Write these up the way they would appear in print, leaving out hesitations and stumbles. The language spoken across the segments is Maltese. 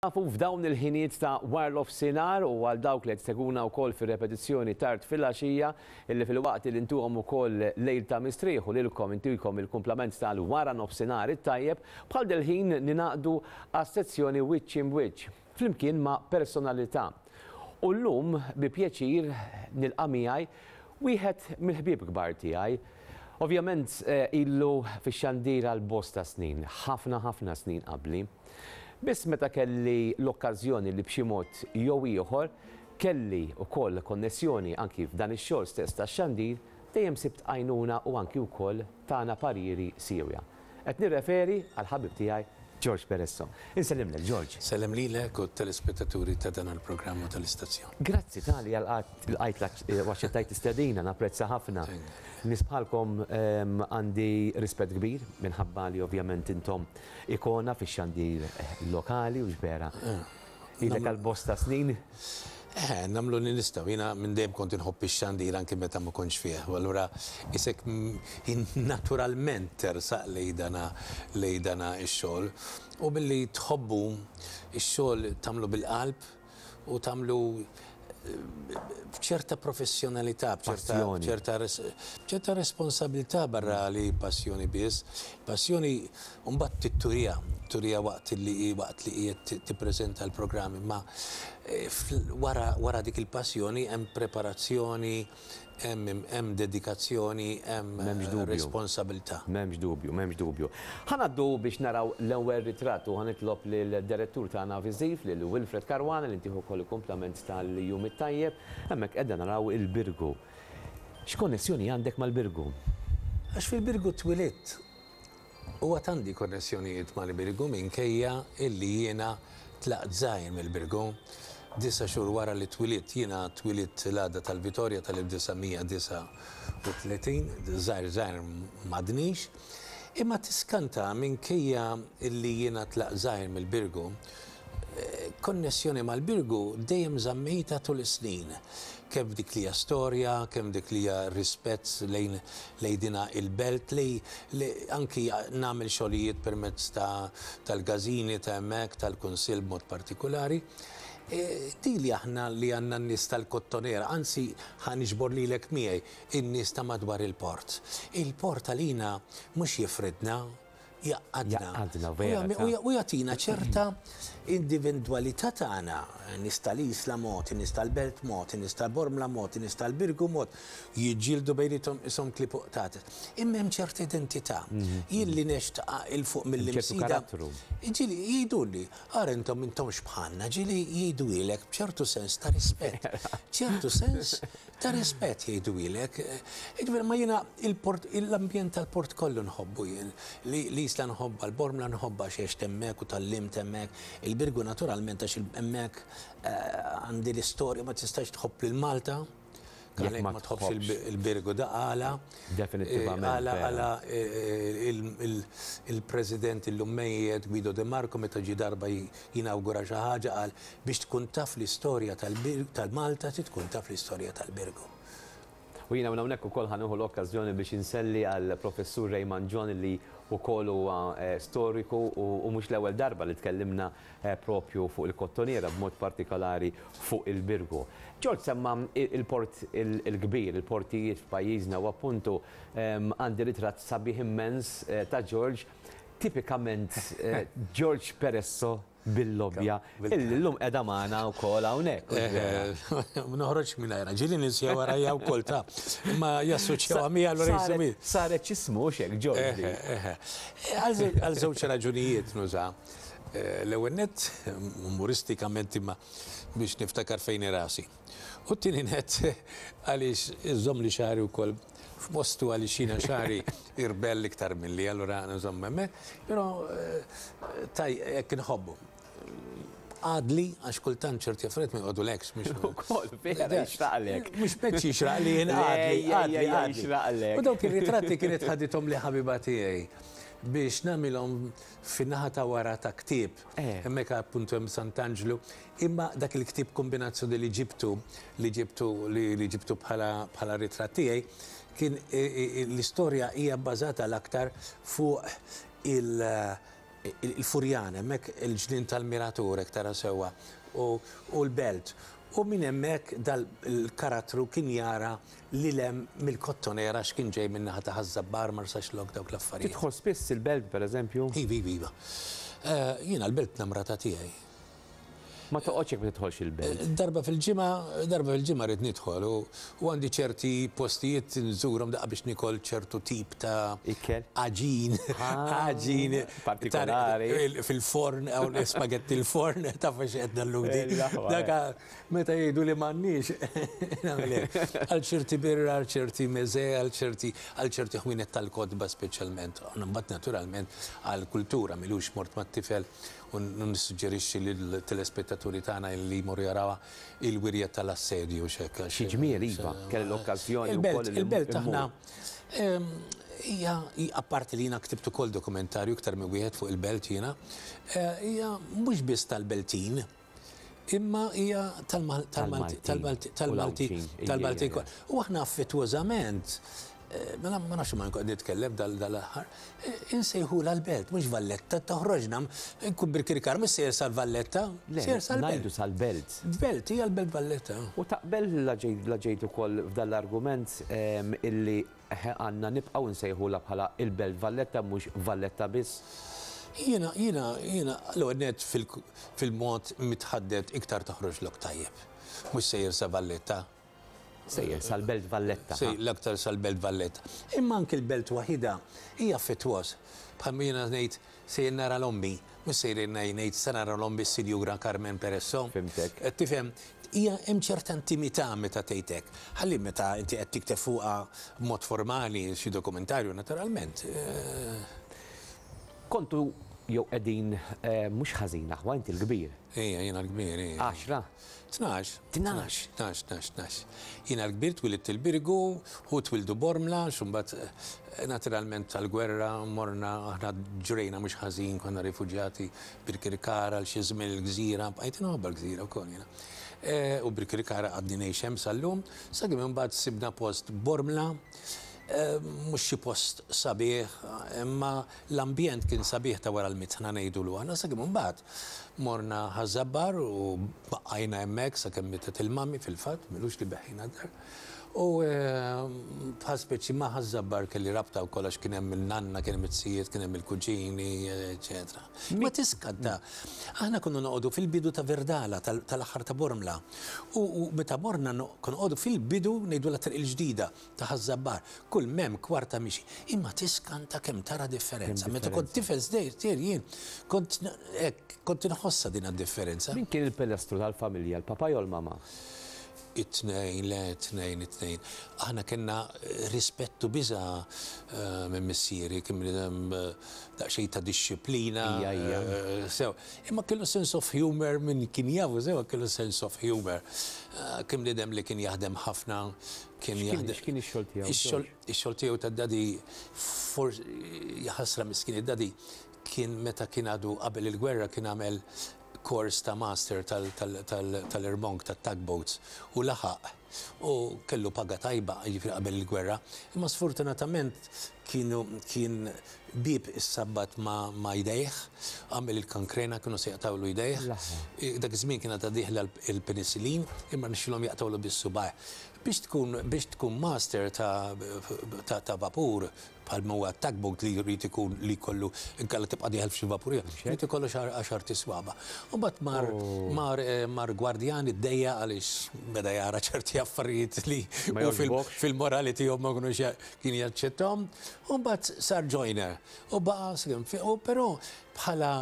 Nafu f'dawn il-ħinijiet ta' warnofsinhar u għal dawk li qed isegwuna wkoll fir-repetizzjoni tard filgħaxija illi filwaqt illi ntuhom ukoll lejl ta' mistrieħ u lilkom intikom il-kumplament tal-waranofsinhar it-tajjeb, bħal dil-ħin ningħaqdu għas-sezzjoni Wiċċ imb'Wiċċ flimkien ma' personalità. U llum bi pjaċir nilqa' miegħi wieħed mill-ħbieb kbar tiegħi. Ovvjament ilu fix-xandir għal bosta snin, ħafna ħafna snin qabli. Biss meta kelli l-okkażjoni li b'xi mod jew ieħor kelli wkoll konnessjoni anki f'dan ix-xogħol stess tax-xandir, dejjem sibt għajnuna u anki wkoll tana pariri siewja. Qed nirreferi għall-ħabib tiegħi George Peresso. Insellimlek George. Sellem lilek u t-telespettaturi ta' dan il-programm u tal-istazzjon. Grazzi tali lqajt u aċċettajt l-istedina, napprezza ħafna. Nies bħalkom għandi rispett kbir minħabba li ovvjament intom Ikona fix-xandir lokali hux vera? Ilek għal bosta snin. Eh, nagħmlu li nistgħu. Jiena minn dejjem kont inħobb ix-xandir anki meta ma kontx fih. U allura isek naturalment tersaq lejn dana lejn dana x-xogħol. U billi tħobbu x-xogħol tagħmlu bil-qalb u tagħmlu b'ċerta professjonalità, b'ċerta b'ċerta responsabilità barra li passjoni biss. Passjoni mbagħad titturiha, turiha waqt li waqt li qiegħed tippreżenta l-programm, imma eh, wara wara dik il-passjoni hemm preparazzjoni, Hemm dedikazzjoni, hemm responsabilità. M'hemmx dubju, m'hemmx dubju. Ħa ngħaddu biex naraw l-ewwel ritratt u ħa nitlob lid-direttur tagħna viżiv, lil Wilfred Caruana li ntih ukoll il-kumplament tal-jum it-tajjeb. Hemmhekk qiegħda naraw il-Birgu. X'konnessjoni għandek mal-Birgu? Għax fil-Birgu twilidt U għad għandi konnessjonijiet mal-Birgu minkejja illi jiena tlaqt żgħir mill-Birgu. Disa' xhur wara li twilidt, jiena twilidt l-għada tal-Vitorja tal-1939, żgħir żgħir m'għadnix, imma tiskanta minkejja illi jiena tlaqt żgħir mill-Birgu, Konnessjoni mal-Birgu dejjem żammejtha tul is-snin, kemm f'dik li hija storja, kemm dik li hija rispett lejn lejn dina il-belt li li anki nagħmel xogħlijiet permezz ta' tal-każini ta' hemmhekk, tal-kunsill b'mod partikulari. Din li aħna li għandna n-nies tal-Kottonera, anzi ħa niġbor lilek miegħi, in-nies ta' madwar il-port. Il-port għalina mhux jifridna, jgħaqqadna. Jgħaqqadna, vera. U jagħtina ċerta individwalità tagħna. Nies tal-Isla mod, in-nies tal-Belt mod, in-nies tal-Bormla mod, in-nies tal-Birgu mod, jiġġieldu bejniethom qishom klieb u qtates. Imma hemm ċerta identità. Jien li ngħext 'il fuq mill-Imsida. Ġieli jgħiduli, ara intom m'intomx bħalna, ġieli jgħiduhielek b'ċertu sens ta' rispett. Ċertu sens Ta' rispett jgħiduhielek. Jiġifieri ma jiena il-port, l-ambjent tal-port kollu nħobbu jien. L-Isla nħobbha, l-Bormla nħobbha għax għext hemmhekk u tgħallimt hemmhekk. Il-Birgu naturalment għax hemmhekk għandi l-istorja ma tistax tħobb lil Malta jekk ma tħobbx il-Birgu da għala. Definittivament. Għala għala il-President illum mejjet Guido De Marco meta ġie darba jinawgura xi ħaġa qal Biex tkun taf l-istorja tal-Malta trid tkun taf l-istorja tal-Birgu. U jiena minn hawnhekk ukoll ħa nieħu l-okkażjoni biex inselli għall-Professur Ray Mangion li wkoll huwa storiku u mhux l-ewwel darba li tkellimna propju fuq il-Kottonera b'mod partikolari fuq il-Birgu. George semma il-Port il-Kbir, il-portijiet f'pajjiżna u appuntu għandi ritratt sabiħ immens ta' George, tipikament George Peresso bil-lobbja illi llum qiegħda magħna wkoll hawnhekk. Ma noħroġx mingħajrha, ġieli ninsieha warajja wkoll ta' imma jassoċjawha miegħi allura jismu. Saret x'ismu hux hekk Ġorġi? Għal żewġ raġunijiet nuża. L-ewwel nett umoristikament imma biex niftakar fejn hi rasi. U t-tieni nett għaliex iżommli xagħri wkoll f'postu għaliex jiena xagħri irbell iktar milli allura nżomm hemmhekk, però taj hekk inħobbu. Għadli għax kultant ċerti affarijiet ma joqogħdulekx mhux. Ukoll vera jixraqlek. Mhux meċ jixraqli jien għadli, għadli, għadli. U dawk ir-ritratti kienet ħadithom li ħabiba tiegħi biex nagħmilhom fin-naħa ta' wara ta' ktieb. Hemmhekk appuntu hemm Sant'Anġlu. Imma dak il-ktieb kombinazzjoni li ġibtu, li ġibtu, li ġibtu bħala, bħala ritratt tiegħi, kien l-istorja hija bbażata l-aktar fuq il, Il-Furjana, hemmhekk il-ġnien tal-Miratur hekk tara sewwa u l-belt. U minn hemmhekk dal-karattru kien jara lil hemm mill-Kottonera għax kien ġej min-naħa ta' Ħaż-Żabbar, Marsaxlokk, dawk l-affarijiet. Tidħol spiss il-belt pereżempju? Iva, iva, iva. Jiena l-belt namrata tiegħi. Ma toqgħodx jekk ma tidħolx il-belt. Darba fil-ġimgħa, darba fil-ġimgħa rrid nidħol u għandi ċerti postijiet nżurhom daqqa biex nikol ċertu tip ta' Ikel? Għaġin, għaġin partikolari. Fil-forn, hawn spagetti l-forn, taf għax qed nalludi. Dak meta jgħidu li m'għandniex, nagħmel hekk. Għal ċerti birra, għal ċerti meze, għal ċerti għal ċerti ħwienet tal-kotba speċjalment. Mbagħad naturalment għall-kultura, m'ilux mort mat-tifel U nissuġġerixxi lill-telespettaturi tagħna li jmorru jarawha il-wirja tal-assedju x'hekk. Xi ġmiel iva, kelli l-okkażjoni wkoll li Il-belt aħna hija apparti li jiena ktibt ukoll dokumentarju iktar minn wieħed fuq il-belt jiena, hija mhux biss tal-Beltin, imma hija tal-Malti tal-Malti kollha. U aħna affettwożament Mela ma nafx ma nkun nitkellem dal-aħħar, insejħulha l-belt, mhux Valletta, toħroġna, nkun Birkirkara, mhux sejjer sal-Valletta, sejjer sal-belt. Ngħidu sal-belt. Belt, hija l-belt Valletta. U taqbel la ġejt ukoll f'dan l-argument illi għandna nibqgħu nsejħulha bħala il-belt Valletta mhux Valletta biss? Jiena, jiena, jiena, l-ewwel nett fil-mod mitħaddet iktar toħroġlok tajjeb. Mhux sejjer sa Valletta. Sejjer sal-Belt Valletta. Sejjer l-aktar sal-Belt Valletta. Imma anki l-belt waħidha hija affettwoż. Bħalma jiena ngħid sejjer nara l-ommi, mhux sejjer ngħid se nara l-ommi s-Sinjura Carmen Peresso. Fhimtek. Qed tifhem? Hija hemm ċerta intimità meta tgħid hekk. Ħalli meta inti qed tikteb fuqha b'mod formali xi dokumentarju naturalment. Kontu jew qegħdin mhux ħażin aħwa, inti l-kbir. Ejja, jiena l-kbir, ejja. Għaxra? 12. 12. 12, 12, 12. Jiena l-kbir twilidt il-Birgu, hu twildu Bormla, għax imbagħad naturalment tal-gwerra morna aħna ġrejna mhux ħażin, konna rifuġjati Birkirkara għal xi żmien il-Gżira, bqajt inħobbha l-Gżira wkoll jiena. U Birkirkara għadni ngħix hemm sal-lum, sakemm imbagħad sibna post Bormla, mhux xi post sabiħ, imma l-ambjent kien sabiħ ta' wara l-mitħna ngħidulu aħna, sakemm imbagħad Morna Ħaż-Żabbar u baqajna hemmhekk sakemm mietet il-mummy fil-fatt, m'ilux li beħħejna d-dar. U bħal speċi ma' Ħaż-Żabbar kelli rabta wkoll għax kien hemm il-nanna, kien hemm it-sijiet, kien hemm il-kuġini, eċċetera. Ma tiskanta, aħna konna noqogħdu fil-bidu ta' Verdala, tal-aħħar ta' Bormla. U meta morna konna noqogħdu fil-bidu ngħidulha Triq il-Ġdida. Ta' Ħaż-Żabbar. Kull m'hemm kwarta mixi. Imma tiskanta kemm tara differenza. Meta kont tifel żgħir jien kont hekk, kont inħossha din d-differenza. Min kien il-pilastru tal-familja, l-papà jew l-mamà? It-tnejn, le, it-tnejn, it-tnejn. Aħna kellna rispett u biża' minn missieri, kien bniedem daqsxejn ta' dixxiplina. Ija, ija. Sew. Imma kellu sense of humour, min kien jafu sew kellu sense of humour. Kien bniedem li kien jaħdem ħafna, Kien jaħdem. X'kien ix-xogħol tiegħu? Ix-xogħol tiegħu tad-daddy forsi jaħasra miskin id-daddy kien meta kien għadu qabel il-gwerra kien għamel kors ta' master tal-irmonk tat-tugboats u laħaq u kellu paga tajba jiġifieri qabel il-gwerra. Imma sfortunatament kienu kien bieb issabbat ma' jdejh, għamel il-kankrena kienu se jaqtgħulu jdejh. Dak iż-żmien kien għadha dieħla l-penicillin imma rnexxielhom jaqtgħulu biss subgħajh. Biex tkun biex tkun master ta' ta' ta' vapur bħal ma huwa tugboat li jrid ikun li jkollu inkella tibqa' dieħel f'xi vapur ieħor, irid ikollu xi għaxart iswaba'. U mbagħad mar mar mar gwardjan iddejjaq għaliex beda jara ċerti affarijiet li hu fil-morali tiegħu ma kinux kien jaċċettahom. U mbagħad sar joiner u baqa' sakemm u però bħala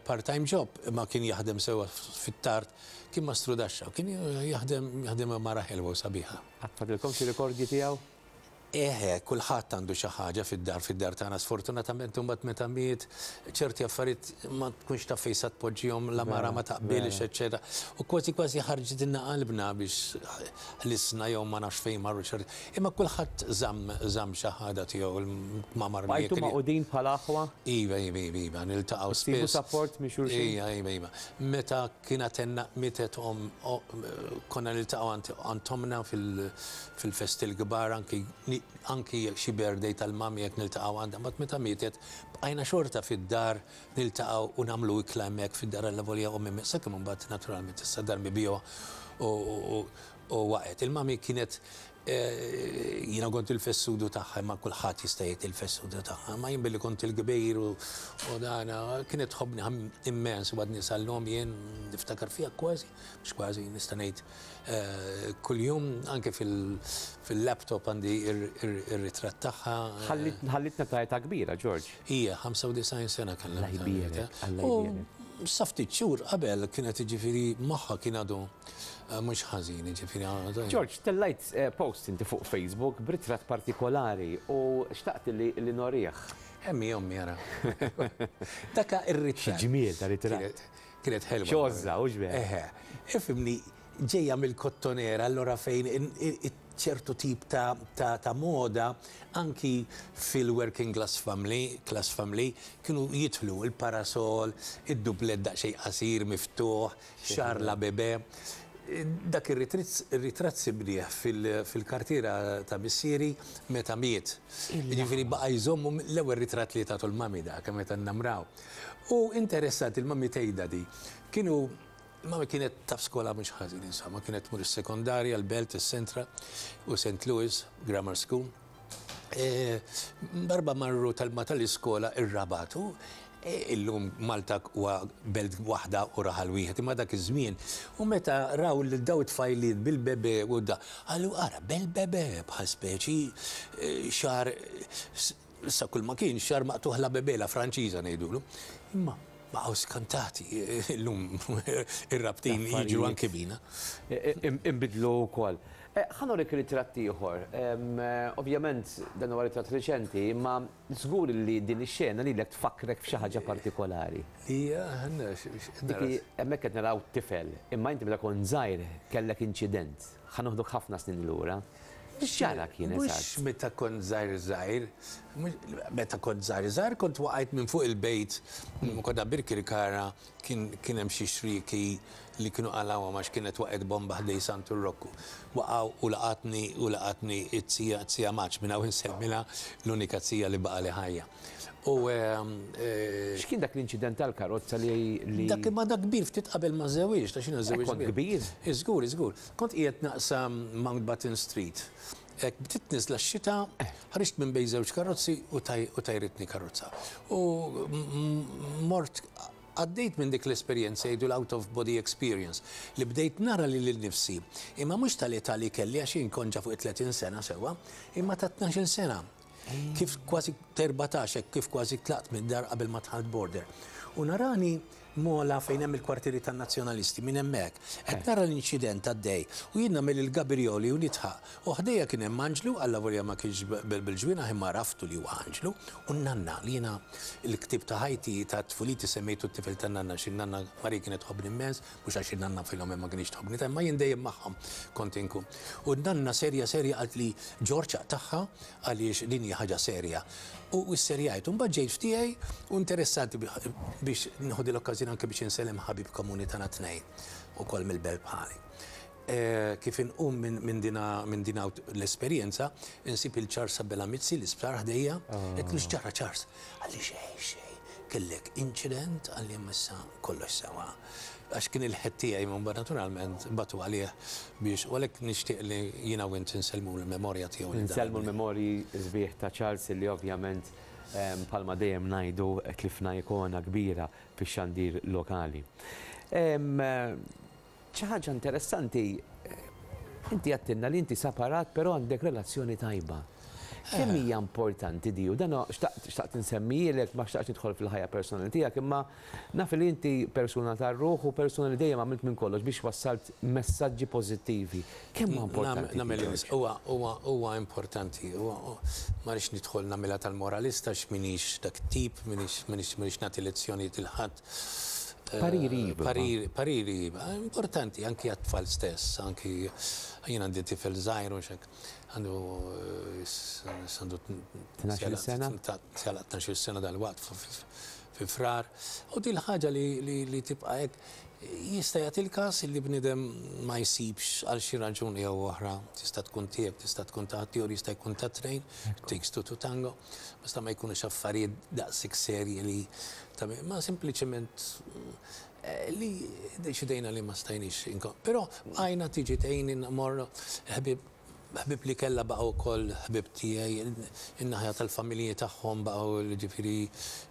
part-time job imma kien jaħdem sewwa fit-tard Kien mastrudaxxa u kien jaħdem jaħdem ma' mara ħelwa u sabiħa. Qatt fadlilkom xi rikordji tiegħu? Eħe, kulħadd għandu xi ħaġa fid-dar, fid-dar tagħna. Sfortunatament imbagħad meta miet ċerti affarijiet ma tkunx taf fejn sa tpoġġihom, la mara ma taqbilx, eċċetera. U kważi kważi ħarġitilna qalbna biex ħlisna jew ma nafx fejn marru ċerti. Imma kulħadd żamm żamm xi ħaġa tiegħu, l-kmamar Bqajtu magħqudin bħala aħwa? Iva, iva, iva, iva, niltaqgħu spiss. Issibu sapport minn xulxin? Iva, iva, iva. Meta Kien għad mietet omm, konna niltaqgħu għand ommna fil-festi l-kbar anki anki jekk xi birthday tal-mummy jekk niltaqgħu għandha, mbagħad meta mietet bqajna xorta fid-dar niltaqgħu u nagħmlu ikla hemmhekk fid-dar allavolja ommi sakemm imbagħad naturalment issa dar mibjugħa u waqgħet. Il-mummy kienet jiena kont il-fessudu tagħha imma kulħadd jista' jgħid il-fessudu tagħha, imma jien billi kont il-kbir u dana kienet tħobbni immens u għadni sal-lum jien niftakar fiha kważi, mhux kważi nista' ngħid kuljum anke fil-laptop għandi ir-ritratt tagħha. Ħallitna ta' età kbira, George. Hija 95 sena kellha. Alla jbierek, Alla jbierek. U sa ftit xhur qabel kienet jiġifieri moħħha kien għadu mhux ħażin, jiġifieri. George, tellajt post inti fuq Facebook b'ritratt partikolari u xtaqt li norih. Hemm hi ommi ara. Dak ir-ritratt. Xi ġmiel ta' ritratt. Kienet ħelwa. X'għożża, hux vera? Eħe. Ifhimni, ġejja mill-kottonera, allura fejn ċertu tip ta' ta' moda anki fil-working class family, class family, kienu jidħlu il-parasol, id-dublett daqsxejn qasir miftuħ, xagħar la bebè. Dak ir-ritratt sibnieh fil-kartiera ta' missieri meta miet. Jiġifieri baqa' jżommu l-ewwel ritratt li tatu l-mummy dak meta nnamraw. U interessanti l-mummy tgħidha di. Kienu Il-mami kienet taf skola mhux ħażin, insomma, kienet tmur is-sekondarja, l-Belt, is-Centra u St. Louis Grammar School. E, darba marru tal-ma tal-iskola ir-Rabat u e, illum Malta huwa belt waħda u raħal wieħed, imma dak iż-żmien. U meta raw lil daw it-tfajliet bil-bebe u da, qalu ara bel-bebe bħal speċi e, xar Issa kull ma kien xagħar maqtugħ la bébé, la Franċiża ngħidulu. Imma baqgħu skantati illum ir-Rabtin jiġru anki bina. Inbidlu wkoll. Ħa norik ritratt ieħor. Ovvjament dan huwa ritratt riċenti, imma żgur li din ix-xena lilek tfakkrek f'xi ħaġa partikolari. Hija Dik hemmhekk qed naraw tifel, imma inti meta kont żgħir kellek inċident. Ħa noħduk ħafna snin lura. X'ġara kien eżatt? Mhux meta kont żgħir żgħir, meta kont żgħir żgħir kont waqajt minn fuq il-bejt, konna Birkirkara, kien kien hemm xi xrieki li kienu qalgħuhom għax kienet waqgħet bomba ħdej Santu Rokku. Waqgħu u laqatni u laqatni t-zija, t-zija Maġ, minn hawn insellmilha, l-unika zija li baqgħali ħajja. U X'kien dak l-inċident tal-karozza li. Dak imma dak kbir ftit qabel ma żewwiġt, għax jiena żewwiġt. Kont kbir? Żgur, żgur. Kont qiegħed naqsam Mountbatten Street. Hekk bdiet nieżla x-xita, ħriġt minn bejn żewġ karozzi u tajritni karozza. U mort għaddejt minn dik l-esperjenza jgħidu l-out of body experience li bdejt nara lili nnifsi, imma mhux tal-età li kelli għax jien kont ġa fuq it-30 sena sewwa, imma ta' 12-il sena. Kif kważi t-erbatax hekk kif kważi tlaqt mid-dar qabel ma dħalt border. U narani Mola fejn hemm il-kwartieri tan-Nazzjonalisti, minn hemmhekk. Qed nara l-inċident għaddej u jien nagħmel il-gabirjoli u nidħaq. U ħdejja kien hemm Anġlu, allavolja ma kienx bil-ġwienaħ imma għaraftu li huwa Anġlu, u n-nanna li jiena l-ktieb ta' ħajti ta' tfuliti semmejtu t-tifel tan-nanna għax in-nanna Marie kienet tħobbni immens, mhux għax in-nanna Filomena ma kinitx tħobbni ta' imma jien dejjem magħhom kont inkun. U n-nanna serja serja qaltli Ġorġ aqtagħha għaliex din hija ħaġa serja. U sserjajt. U mbagħad ġejt f'tiegħi u interessanti biex nieħu din l-okkażjoni anke biex insellem ħabib komuni tagħna t-tnejn, ukoll mill-belt bħali. Kif inqum minn din minn din l-esperjenza, insib il Charles Abela Mizzi l-isptar ħdejja, għedtlu x'ġara Charles? Qalli xejn, xejn, kellek inċident, qalli imma issa kollox sewa. Għax kien il-head tiegħi imma mbagħad naturalment bagħtu għalih biex u għalhekk nixtieq li jiena u int insellmu l-memorja tiegħu lil dan. Insellmu l-memorji sbieħ ta' Charles li ovvjament bħalma dejjem ngħidu tlifna ikona kbira fix-xandir lokali. Xi ħaġa interessanti, inti għedtilna li inti separat però għandek relazzjoni tajba. Kemm hija importanti di u dan xtaqt insemmihielek, ma xtaqtx nidħol fil-ħajja personali tiegħek imma naf li inti persuna tar-ruħ u persuna li dejjem għamilt minn kollox biex wassalt messaġġi pożittivi. Kemm huwa importanti? Nagħmel huwa huwa huwa importanti. Ma rridx nidħol nagħmilha tal-moralista għax m'iniex dak it-tip, m'iniex m'iniex nagħti lezzjonijiet lil ħadd. Pariri iva. Pariri, pariri iva. Importanti anki għat-tfal stess, anki jien għandi tifel żgħir u x'hekk. Għandu għandu 12-il sena. 12-il sena dalwaqt fi Frar. U din ħaġa li tibqa' hekk. Jista' jagħti l-każ li bniedem ma jsibx għal xi raġuni jew oħra, tista' tkun tiegħek, tista' tkun ta' ħaddieħor, jista' jkun tat-tnejn, takes two to tango, basta ma jkunux affarijiet daqshekk serji li ta' ma sempliċement li ddeċidejna li ma stajniex Però bqajna tiġi tgħinni mmorru ħbieb Ħbieb li kellha baqgħu wkoll ħbieb tiegħi, in-naħa tal-familji tagħhom baqgħu jiġifieri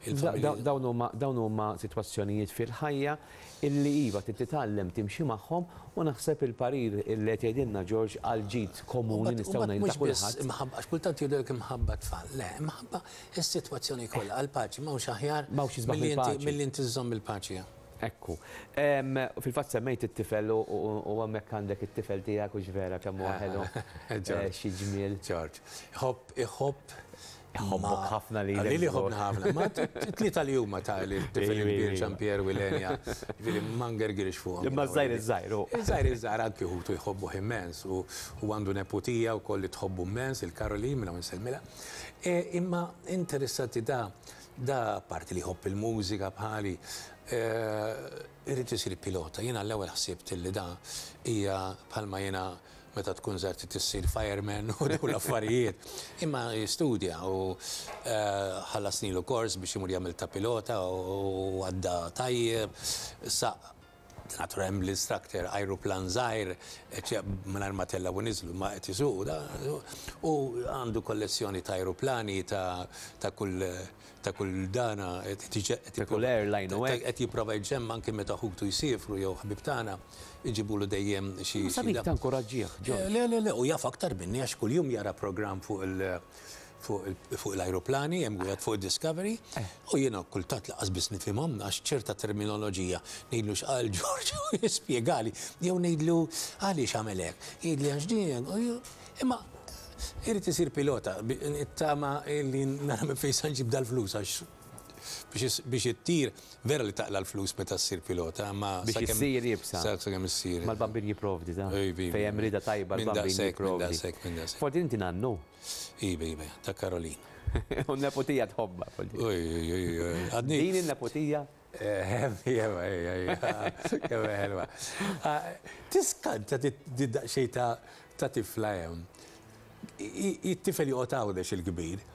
il-familji. Dawn huma dawn huma sitwazzjonijiet fil-ħajja illi iva trid titgħallem timxi magħhom u naħseb il-parir illi qed jgħidilna George għall-ġid komuni nistgħu ngħidu ta' kulħadd. Mhux biss imħabba, għax kultant jgħidulek imħabba t-tfal. Le, imħabba s-sitwazzjoni kollha għall-paċi m'hawnx aħjar milli inti żżomm il-paċi. Ekku. Fil-fatt semmejt it-tifel u hemmhekk għandek it-tifel tiegħek hux vera kemm huwa ħelu. Xi ġmiel. George. Iħobb, iħobb. Iħobbok ħafna lilek. Lili jħobbni ħafna. Ma t-tlieta li huma ta' li t-tifel il-kbir Jean Pierre u Ilenia, ġifieri ma ngergirx fuqhom. Imma ż-żgħir iż-żgħir hu. Iż-żgħir iż-żgħir anki ħutu jħobbuh immens u għandu neputija wkoll li tħobbu immens, il-Caroline, minn hawn insellmilha. Imma interessanti da Da apparti li jħobb il-mużika bħali, irid isir pilota. Jiena l-ewwel ħsibt li da hija bħalma jiena meta tkun żgħir trid issir fireman u dawn l-affarijiet. Imma jistudja u ħallasnilu kors biex imur jagħmel ta' pilota u għadda tajjeb. Saq Naturalment bl-instructor, ajruplan żgħir, mingħajr ma tellgħu u niżlu, ma qed isuqu da, u għandu kollezzjoni ta' ajruplani ta' kull ta' kull dana, Ta' kull airline u hekk. Qed jipprova jġemma' anke meta ħutu jsiefru jew ħbieb tagħna jġibulu dejjem xi. Ma sabiħ tankoraġġih, George. Le, le, le, u jaf aktar minni għax kuljum jara programm fuq il- fuq l-ajruplani, hemm wieħed fuq id-Discovery, u jiena kultant lanqas biss nifhimhom għax ċerta terminoloġija ngħidlu x'qal George u jispjegali, jew ngħidlu għaliex għamel hekk, jgħidli għax din hekk, imma irid isir pilota, nittama li nara minn fejn se nġib dal-flus għax biex ittir, vera li taqla' l-flus meta ssir pilota, imma Biex issir iebsa. Sakemm issir. Ma l-Bambin jipprovdi, ta. Fejn hemm rieda tajba l-Bambin jipprovdi. Minn daqshekk, minn daqshekk. Forsi inti nannu. Iva, iva, ta' Caroline. U n-neputija tħobbha, Poldi. Oj, oj, oj, oj. Għadni. Din in-neputija? Iva, iva, iva. Kemm hi ħelwa. Tiskanta di daqsxejn ta' tifla hemm. It-tifel joqgħod Għawdex il-kbir.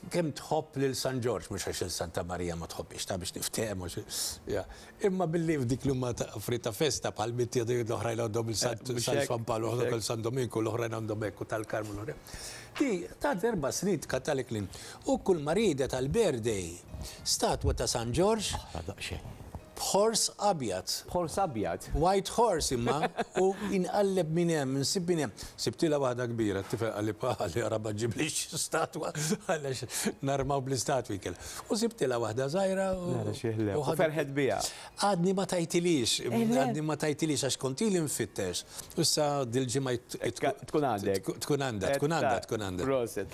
Kemm tħobb lil San Ġorġ, mhux għax lil Santa Marija ma tħobbhiex, ta' biex niftehmu, imma billi f'dik li huma affarijiet ta' festa bħal mitt l-oħrajn għandhom il San San Pawl, l-oħrajn San Dominku, l-oħrajn għandhom hekk u tal-Karmnu l-oħrajn. Di ta' erba' snin tkantalek l-innu. U kull ma riedet għall-birthday statwa ta' San Ġorġ. B'ħors abjad. B'ħors abjad? White horse imma, u inqalleb minn hemm, insib minn hemm. Sibtilha waħda kbira, t-tifel qalli pa, qalli ara ma ġġiblix statwa, għaliex narmaw bl-istatwi kellha. U sibtilha waħda żgħira u. Nara xi ħlew. U ferħet biha. Għadni ma tajtilhiex, għadni ma tajtilhiex għax kont ili nfittex. U issa dil-ġimgħa Tkun għandek. Tkun għandha, tkun għandha, tkun għandha. Proset.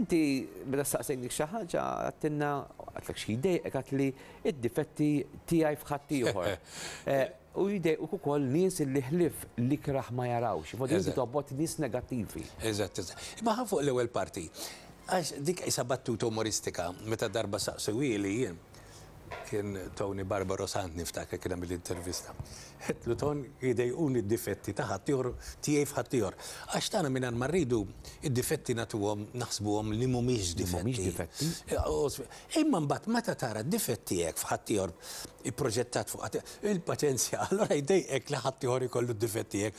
Inti meta staqsejnik xi ħaġa għedtilna, għedtlek xi jdejqek, għedtli id-difetti tiegħi f'ħaddieħor. U jdejquk ukoll nies li ħlief l-ikrah ma jarawx. Voldiri inti tobgħod nies negattivi. Eżatt, eżatt. Imma ħa fuq l-ewwel parti. Għax dik qisha battuta umoristika, meta darba saqsewhieli jien, kien Tony Barbaro Sant niftakar kien għamilli intervista. Għedtlu Ton jdejquni d-difetti ta' ħaddieħor tiegħi f'ħaddieħor. Għax tagħna mingħajr ma rridu id-difetti nagħtuhom naħsbuhom li mhumiex difetti. Mhumiex difetti. Imma mbagħad meta tara d-difett tiegħek f'ħaddieħor ipproġettat fuq ħaddieħor, il-paċenzja, allura jdejqek li ħaddieħor ikollu d-difett tiegħek.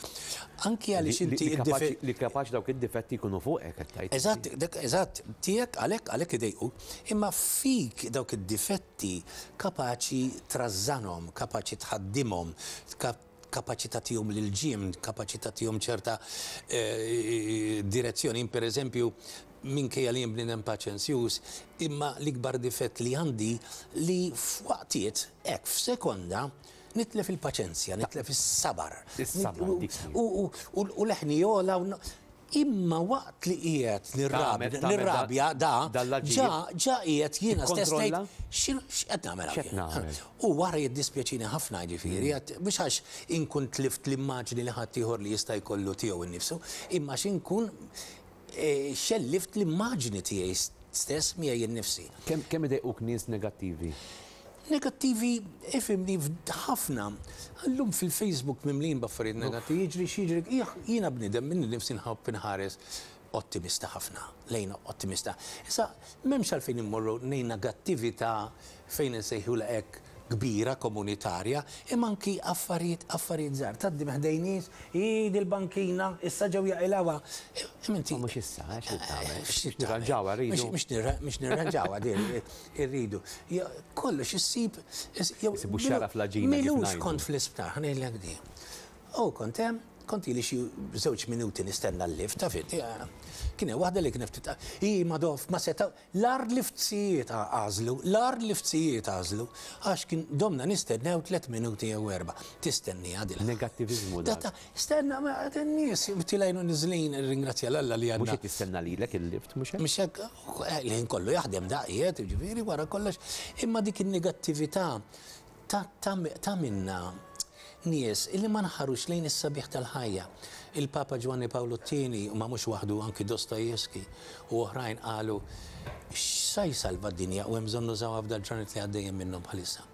Anki għaliex inti d-difett. Li kapaċi dawk id-difetti jkunu fuqek qed tgħid. Eżatt, dak eżatt, tiegħek għalhekk għalhekk idejquk. Imma fik dawk id-difetti kapaċi trażżanhom, kapaċi tħaddimhom, kapaċi tagħtihom lil-ġiem, kapaċi tagħtihom ċerta direzzjoni. Jien pereżempju, minkejja li jien bniedem paċenzjuż, imma l-ikbar difett li għandi li f'waqtiet, hekk f'sekonda, nitlef il-paċenzja, nitlef is-sabar. Is-sabar, dik hi. U leħni jogħla u Imma waqt li qiegħed nirrabja da, ġa ġa qiegħed jiena stess ngħid x'qed nagħmel hawn. U wara jiddispjaċini ħafna jiġifieri, mhux għax inkun tlift l-immaġni li ħaddieħor li jista' jkollu tiegħu nnifsu, imma għax inkun xellift l-immaġni tiegħi stess miegħi nnifsi. Kemm idejquk nies negattivi? Negattivi, ifhimni, ħafna. Llum fil-Facebook mimlin b'affarijiet negattivi, jiġri x'jiġri, jiena bniedem minni nnifsi nħobb inħares ottimista ħafna, lejn ottimista. Issa, m'hemmx għalfejn immorru lejn negattività fejn insejħulha hekk kbira komunitarja, imma anki affarijiet affarijiet żgħar. Tgħaddi minn ħdejn nies, hi dil-bankina, issa ġew jaqilgħuha. Imma inti. Ma mhux issa, eh, x'trid tagħmel? X'trid Nirranġawha rridu. Mhux nirranġawha din irridu. Kollox issib. Isibu x-xagħra fl-għaġina. M'ilux kont fl-isptar, ħa ngħidlek din. U kont hemm, kont ili xi żewġ minuti nistenna l-lift, taf inti. Kien hemm waħda li kienet ftit, hi Madoff, ma setgħu, l-agħar liftsijiet għażlu, l-agħar liftsijiet għażlu, għax kien domna nistennew tlett minuti jew erbgħa. Tistenniha dil. Negattiviżmu dak. Stenna, ma n-nies tilgħin u niżlin, irringrazzja 'l Alla li għandna. Mhux qed tistenna lilek il-lift, mhux hekk? Mhux hekk, il-ħin kollu jaħdem da qiegħed, jiġifieri wara kollox, imma dik in-negattività tagħmilna nies illi ma nħarux lejn is-sabiħ tal-ħajja. Il-Papa Ġwanni Pawlu t-Tieni, u ma mhux waħdu anki Dostoevsky u oħrajn qalu x'sa jsalva d-dinja u hemm bżonn nużawha f'dal-ġranet li għaddejjin minnhom bħalissa.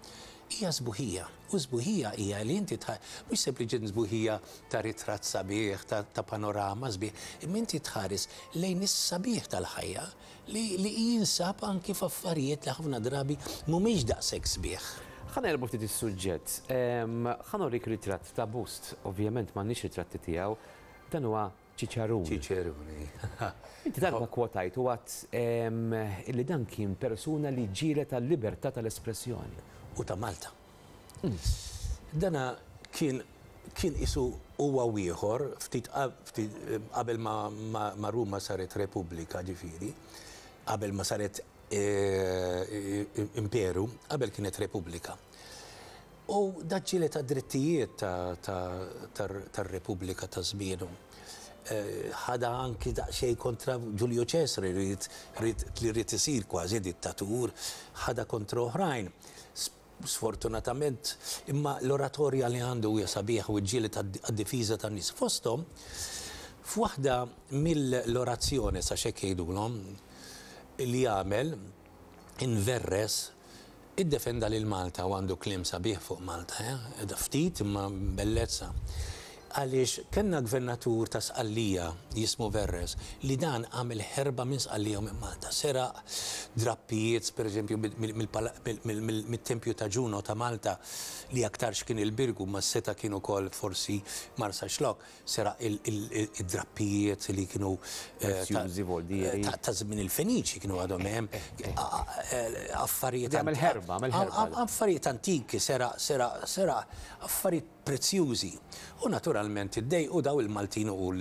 Hija sbuħija. U sbuħija hija li inti mhux sempliċement sbuħija ta' ritratt sabiħ, ta' panorama sbieħ, imma inti tħares lejn is-sabiħ tal-ħajja li li jinsab anki f'affarijiet li ħafna drabi mhumiex daqshekk sbieħ. Ħa neqlbu ftit is-suġġett. Ħa norik ritratt ta' bust, ovvjament m'għandniex ritratti tiegħu. Dan huwa Ċiċerun. Ċiċeruni. Inti darba kkwotajt u għadt illi dan kien persuna li ġġieled għal-libertà tal-espressjoni. U ta' Malta. Dana kien kien qisu huwa u ieħor ftit ftit qabel ma ma Ruma saret Repubblika ġifieri, qabel ma saret imperu, qabel kienet Repubblika. U da ġġieled għad-drittijiet tar-Repubblika ta' żmienu. Ħadha anki daqsxejn kontra Ġulju Ċesari li ried isir kważi dittatur, ħadha kontra oħrajn. Sfortunatament, imma l-oratorja li għandu hija sabiħa u ġġieled għad-difiża tan-nies. Fosthom, f'waħda mill-orazzjoni, sa x'hekk jgħidulhom, li għamel, inverres, Iddefenda lil Malta u għandu kliem sabiħ fuq Malta, eh? Ftit imma bellezza. Għaliex kellna gvernatur ta' Sqallija jismu Verres li dan għamel ħerba minn Sqallija u minn Malta. Seraq drappijiet, pereżempju, mit-tempju ta' Ġuno ta' Malta li aktarx kien il-Birgu ma seta' kien ukoll forsi Marsaxlokk. Seraq id-drappijiet li kienu ta' żmien il-Feniċi kienu għadhom hemm. Affarijiet. Għamel ħerba, għamel ħerba. Affarijiet antiki, seraq, seraq, seraq, affarijiet prezzjużi. U naturalment iddejqu daw il-Maltin u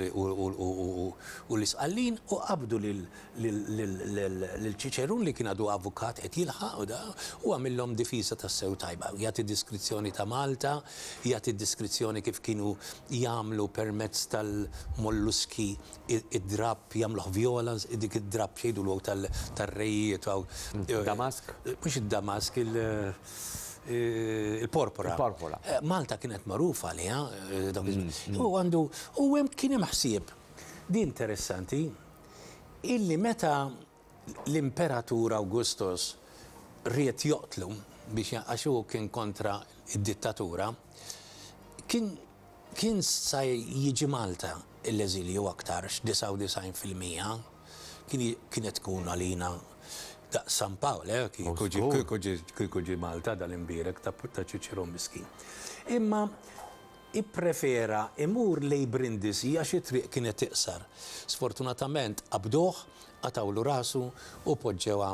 l-Isqallin u qabdu lil lil Ċiċerun li kien għadu avukat qed jilħaq u da, u għamillhom difiża tassew tajba. Jagħti diskrizzjoni ta' Malta, jagħti diskrizzjoni kif kienu jagħmlu permezz tal-molluski id-drapp jagħmluh vjola, dik id-drapp x'jgħidulu tar-rejiet. Damask? Mhux id-damask, il-porpora. Il-porpora. Malta kienet magħrufa għaliha dawk iż-żmien. U għandu, u hemm kien hemm ħsieb. Di interessanti. Illi meta l-Imperatur Augustus ried joqtlu biex għax hu kien kontra d-dittatura, kien kien sa jiġi Malta l-eżilju aktarx 99% kien kienet tkun għalina daqs San Pawl, eh, kieku ġie kieku ġie kieku ġie Malta dal-imbierek ta' ta' Ċiċirun miskin. Imma Ipprefera imur lejn Brindisi għax it-triq kienet iqsar. Sfortunatament qabduh, qatgħulu rasu u poġġewha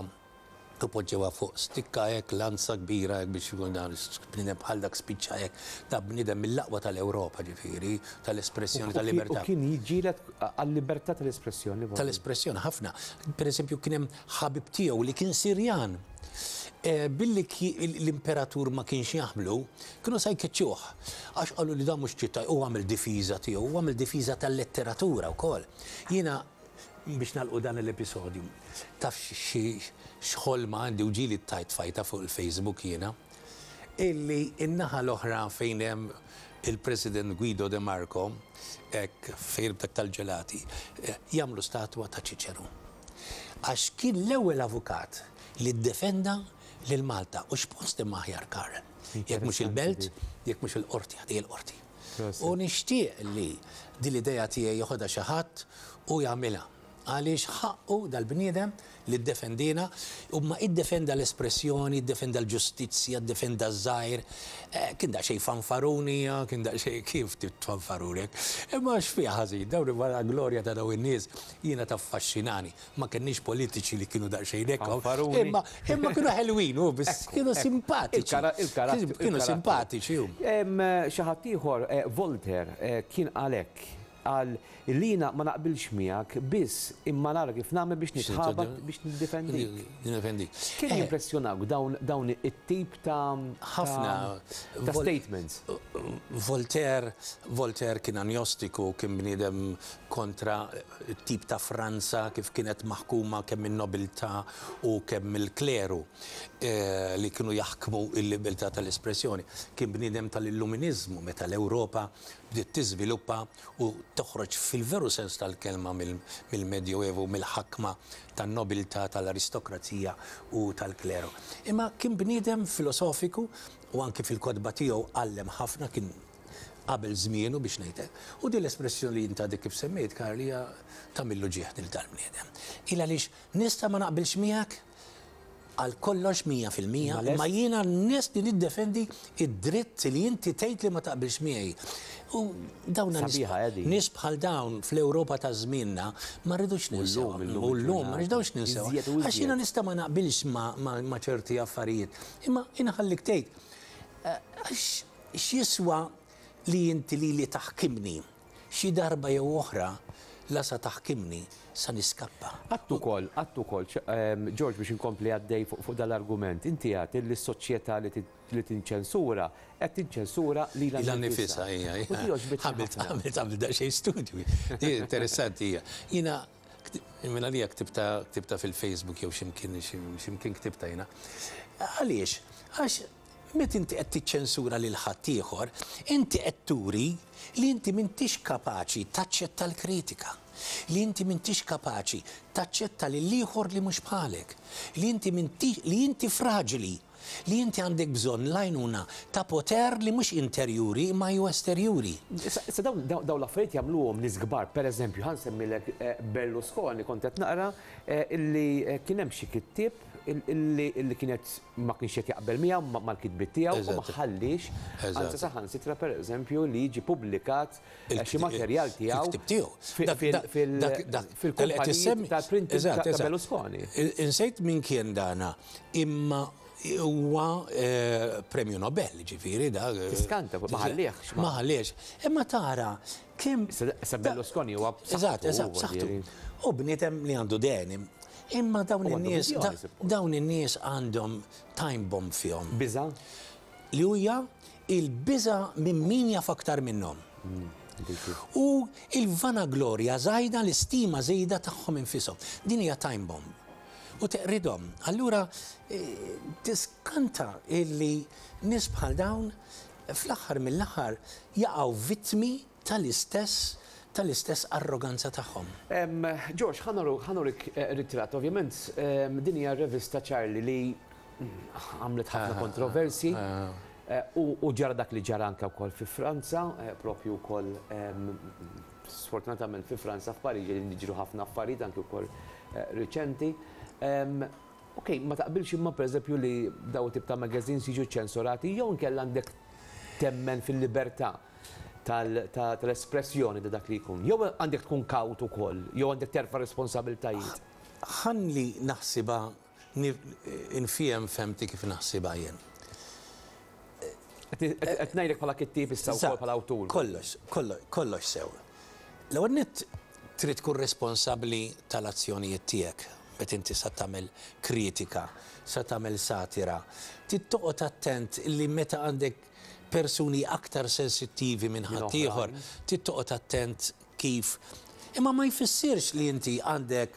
u poġġewha fuq stikka hekk, lanza kbira hekk biex ikun dan bniedem bħal dak spiċċa hekk. Da bniedem mill-aqwa tal-Ewropa ġifieri, tal-espressjoni tal-libertà. U kien jiġġieled għal-libertà tal-espressjoni. Tal-espressjoni ħafna. Pereżempju kien hemm ħabib tiegħu li kien Sirjan. Billi l-imperatur ma kienx jaħmlu, kienu sa jkeċċuh. Għax qalu li dan mhux ċittadin, u għamel difiża tiegħu, u għamel difiża tal-letteratura wkoll. Jiena, biex nagħlqu dan l-episodju, taf xi x'ħolma għandi u ġieli tajt fajta fuq il-Facebook jiena, illi n-naħa l-oħra fejn hemm il-President Guido De Marco, hekk fejn dak tal-ġelati, jagħmlu statwa ta' Ċiċerun. Għax kien l-ewwel avukat li ddefenda lil Malta. U x'post imma aħjar, Karl? Jekk mhux il-Belt, jekk mhux il-Qorti, ħdej il-Qorti. U nixtieq li din l-idea tiegħi joħodha xi ħadd u jagħmilha. Għaliex ħaqqu dal-bniedem li ddefendiena, imma iddefenda l-espressjoni, iddefenda l-ġustizzja, iddefenda ż-żgħir. Kien daqsxejn fanfaruni, kien daqsxejn kif tfanfaruni hekk. Imma x'fiha ħażin, dawn wara glorja ta' dawn in-nies jiena taffaxxinani. Ma kenniex politiċi li kienu daqsxejn hekk. Fanfaruni. Imma imma kienu ħelwin hu biss kienu simpatiċi. Il-karattru. Kienu simpatiċi hu. Xi ħadd ieħor, Voltaire, kien qal hekk, qal Illi jiena ma naqbilx miegħek biss imma nara kif nagħmel biex nitħabat biex niddefendik. Niddefendik. Kemm jimpressjonawk dawn dawn it-tip ta' Ħafna. ta' statements? Voltaire, Voltaire kien anjostiku, kien bniedem kontra t-tip ta' Franza kif kienet maħkuma kemm min-nobiltà u kemm mill-kleru li kienu jaħkmu l-libertà tal-espressjoni. Kien bniedem tal-Illuminiżmu meta l-Ewropa bdiet tiżviluppa u toħroġ fil-veru sens tal-kelma mill-Medjoevu, mill-ħakma tan-nobiltà, tal-aristokrazija u tal-kleru. Imma kien bniedem filosofiku u anki fil-kotba tiegħu għallem ħafna, kien qabel żmienu biex ngħid hekk. U din l-espressjoni li int għadek kif semmejt, Karl, hija tagħmillu ġieħ lil dal-bniedem. Il għaliex nista' ma naqbilx miegħek, għal kollox 100%, imma jiena lest li niddefendi d-dritt li inti tgħid li ma taqbilx miegħi. U dawn nies bħal dawn fl-Ewropa ta' żmienna ma rridux ninsewhom. U llum ma rridux ninsewhom. Għax jiena nista' ma naqbilx ma' ċerti affarijiet, imma inħallik tgħid. Għax x'jiswa li inti lili taħkimni? Xi darba jew oħra, la sa taħkimni, sa niskappa. Għedt ukoll, għedt ukoll, George biex inkompli għaddej fuq dal-argument, inti għedt illi s-soċjetà li tinċensura qed tinċensura lilha nnifisha. Lilha nnifisha, hija, hija. U di għoġbitni ħafna. Għamilt, għamilt daqsxejn studju. Di interessanti hija. Jiena, minn għalija ktibtha, ktibtha fil-Facebook jew xi mkien, xi mkien ktibtha jiena. Għaliex? Għax Meta inti qed tiċċensura lil ħaddieħor, inti qed turi li inti m'intix kapaċi taċċetta l-kritika, li inti m'intix kapaċi taċċetta lill-ieħor li mhux bħalek, li inti m'intix, li inti fraġili, li inti għandek bżonn l-għajnuna ta' poter li mhux interjuri imma hu esterjuri. Issa dawn dawn l-affarijiet jagħmluhom nies kbar. Pereżempju, ħa nsemmilek Berlusconi, kont qed naqra illi kien hemm xi kittieb illi kienet ma kienx qed jaqbel miegħu mal-kitbiet tiegħu u ma ħalliex, anzi saħansitra pereżempju li jiġi pubblikat xi materjal tiegħu fil-kumpaniji tal-printing ta' Berlusconi. Insejt min kien dana, imma huwa Premju Nobel, ġifieri da. Tiskanta, ma ħalliehx. Ma ħalliehx. Imma tara kemm. Issa Berlusconi huwa b'saħħtu. Eżatt, eżatt, b'saħħtu. U bniedem li għandu deni. Imma dawn in-nies, dawn in-nies għandhom time bomb fihom. Biża'? Li huja il-biża' minn min jaf aktar minnhom. U il-vanaglorja żajda, l-istima żejda tagħhom infishom. Din hija time bomb. U teqridhom. Allura tiskanta illi nies bħal dawn fl-aħħar mill-aħħar jaqgħu vittmi tal-istess tal-istess arroganza tagħhom. George, ħa nurik ritratt. Ovvjament din hija r-revista Charlie li għamlet ħafna kontroversji u ġara dak li ġara anke wkoll fi Franza, propju wkoll sfortunatament fi Franza f'Pariġi qegħdin jiġru ħafna affarijiet anke wkoll riċenti. Ok, ma taqbilx imma pereżempju li dawn it-tip ta' magazines jiġu ċensurati jew inkella għandek temmen fil-libertà tal-espressjoni ta' dak li jkun. Jew għandek tkun kawt ukoll, jew għandek terfa' responsabiltajiet. Ħalli naħsibha, nfiehem fehmti kif naħsibha jien. Qed ngħidlek bħala kittieb issa wkoll bħala awtur. Kollox, kollox sew. L-ewwel nett trid tkun responsabbli tal-azzjonijiet tiegħek meta inti sa tagħmel kritika, sa tagħmel satira. Trid toqgħod attent li meta għandek persuni aktar sensittivi minn ħaddieħor, trid toqgħod attent kif. Imma ma jfissirx li inti għandek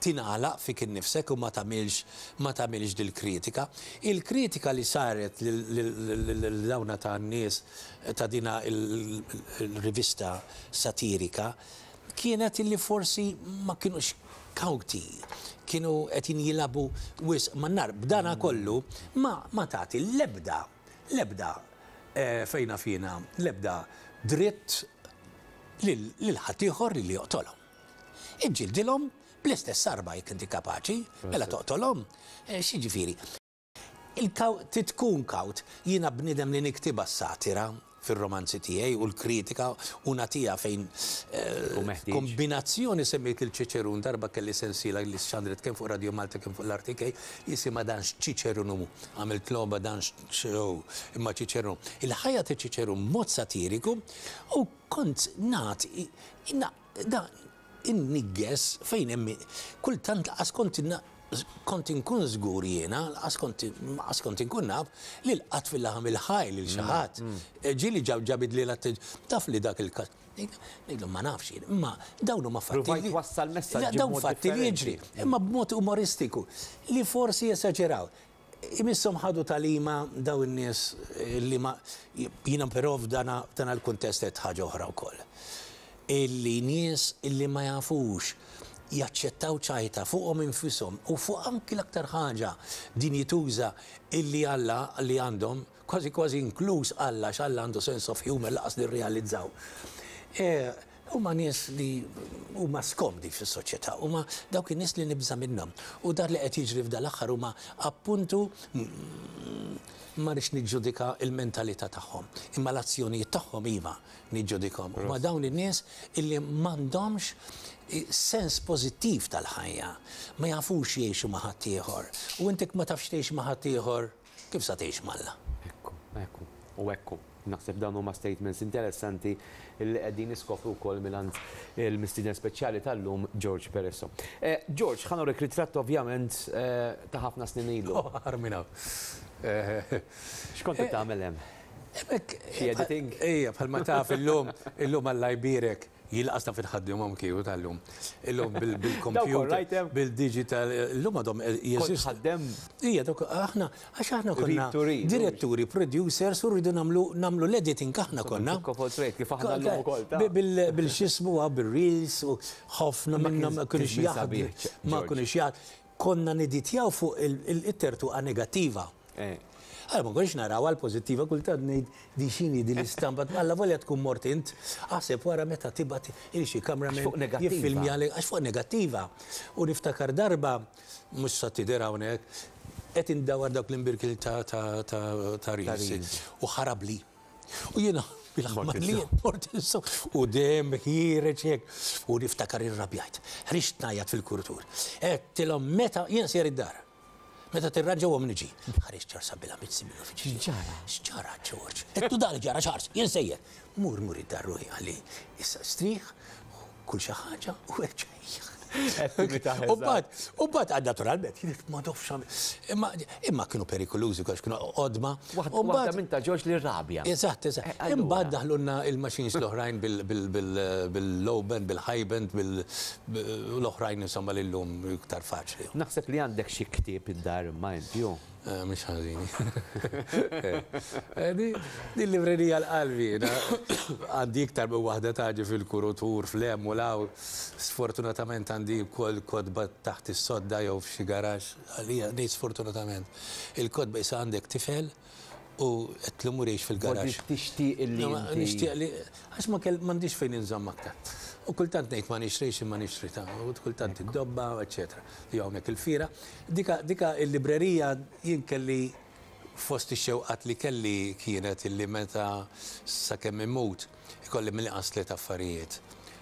tingħalaq fik innifsek u ma tagħmilx ma tagħmilx dil-kritika. Il-kritika li saret lil dawna ta' nies ta' dina il-rivista satirika kienet illi forsi ma kinux kawti, kienu qed jilagħbu wisq man-nar. B'dana kollu ma ma tagħti l-ebda l-ebda fejn naf jiena l-ebda dritt lil ħaddieħor li joqtolhom. Iġġildilhom bl-istess arma jekk inti kapaċi, mela toqtolhom. X'jiġifieri? Il-kaw, trid tkun kawt. Jiena bniedem li niktibha s-satira fir-romanzi tiegħi u l-kritika u nagħtiha fejn kombinazzjoni semmejt lil Ċiċerun darba kelli sensiela li xandret kemm fuq Radio Malta kemm fuq l-RTK jisimha Dan x'Ċiċerun hu. Għamilt logħba Dan x'hu imma Ċiċerun. Il-ħajja ta' Ċiċerun b'mod satiriku u kont nagħti Da inniggeż fejn hemm kultant laqas kont kont inkun żgur jiena, laqas kont laqas kont inkun naf li lqatt fil-laħam il-ħaj lil xi ħadd. Ġieli ġab ġabidli l-attenzjoni, taf li dak il-każ. Ngħidlu ma nafx jien, imma dawn huma fatti. Provajt twassal messaġġi Dawn fatti li jiġri, imma b'mod umoristiku li forsi jesaġeraw. Imisshom ħadu tagħlima dawn in-nies li ma, jiena però f'dan f'dan il-kuntest għedt ħaġa oħra wkoll. Illi nies illi ma jafux jaċċettaw ċajta fuqhom infishom u fuq anki l-aktar ħaġa dinjituża illi Alla li għandhom, kważi kważi inkluż Alla għax Alla għandu sense of humour lanqas nirrealizzaw. Huma nies li huma skomdi fis-soċjetà, huma dawk in-nies li nibża' minnhom. U dak li qed jiġri f'dal-aħħar huma appuntu, ma rridx niġġudika l-mentalità tagħhom, imma l-azzjonijiet tagħhom iva niġġudikhom. Huma dawn in-nies illi m'għandhomx sens pożittiv tal-ħajja, ma jafux jgħixu ma' ħaddieħor. U int jekk ma tafx tgħix ma' ħaddieħor, Kif sa tgħix m'Alla? Ekku, ekku, u ekku. Naħseb dawn huma statements interessanti li qegħdin niskopru wkoll mingħand il-mistieden speċjali tal-lum George Peresso. George, ħa nurik ritratt ovvjament ta' ħafna snin ilu. Oh, ħar minn hawn. X'kont qed tagħmel hemm? Hemmhekk. Xi editing? Ejja, bħalma taf illum, illum Alla jbierek. Jien lanqas naf inħaddimhom kieku tal-lum. Illum bil-computer, bil-digital, illum għadhom jeżistu. Kont tħaddem? Ija, dawk aħna, għax aħna konna diretturi, producers u rridu nagħmlu nagħmlu l-editing aħna konna. Kif aħna llum ukoll. Bil-x'ismu bil-reels u ħafna minnhom ma kinux jaħdmu. Ma kinux jaħdmu. Konna neditjaw fuq it-tertuqa negattiva. Allura ma konniex narawha l-pożittiva, kultant ngħid di x'inhi din l-istampa, allavolja tkun mort int, aħseb wara meta tibgħat il xi cameraman jiffilmjalek, għax fuq negattiva. U niftakar darba, mhux sa tidher hawnhekk, qed indawwar dawk l-imbirkil ta' reels u ħarabli. U jiena bil-ħmar li mort u dejjem ħiereġ hekk. U niftakar irrabjajt, ħriġt ngħajjat fil-kuritur. Għedtilhom meta jien sejjer id-dar. Meta tirranġawhom niġi. Ħareġ Charles Abela Mizzi mill-uffiċċju. X'ġara? X'ġara George? Għedtlu dan li ġara Charles, jien sejjer. Mur mur id-dar ruħi qalli, issa strieħ, kul xi ħaġa u erġa' ejja. U mbagħad, u mbagħad naturalment, jien ma nafx imma imma kienu perikolużi għax kienu qodma. Waħda minn ta' George li rrabja. Eżatt, eżatt. Imbagħad daħlulna il-machines l-oħrajn bil-low band, bil-high band, bil U l-oħrajn insomma li llum iktar faċli. Naħseb li għandek xi ktieb id-dar imma inti hu. Mhux ħażin. Din librerija l-qalbi. Għandi iktar minn waħda taġi fil-kurutur, fl-hemm u l-hawn. Sfortunatament għandi wkoll kotba taħt is-sodda jew f'xi garaxx. Għalija ngħid sfortunatament. Il-kotba issa għandek tifel u qed mur jgħix fil-garaxx. Forsi tixtieq li inti. Nixtieq li għax ma kell m'għandix fejn inżomm aktar. U kultant ngħid ma nixtrix imma nixtri ta' u kultant id-dobba, eċċetera. Jew hawnhekk il-fiera. Dika dika il-librerija jien kelli fost ix-xewqat li kelli kienet illi meta sakemm immut ikolli mill-inqas tliet affarijiet.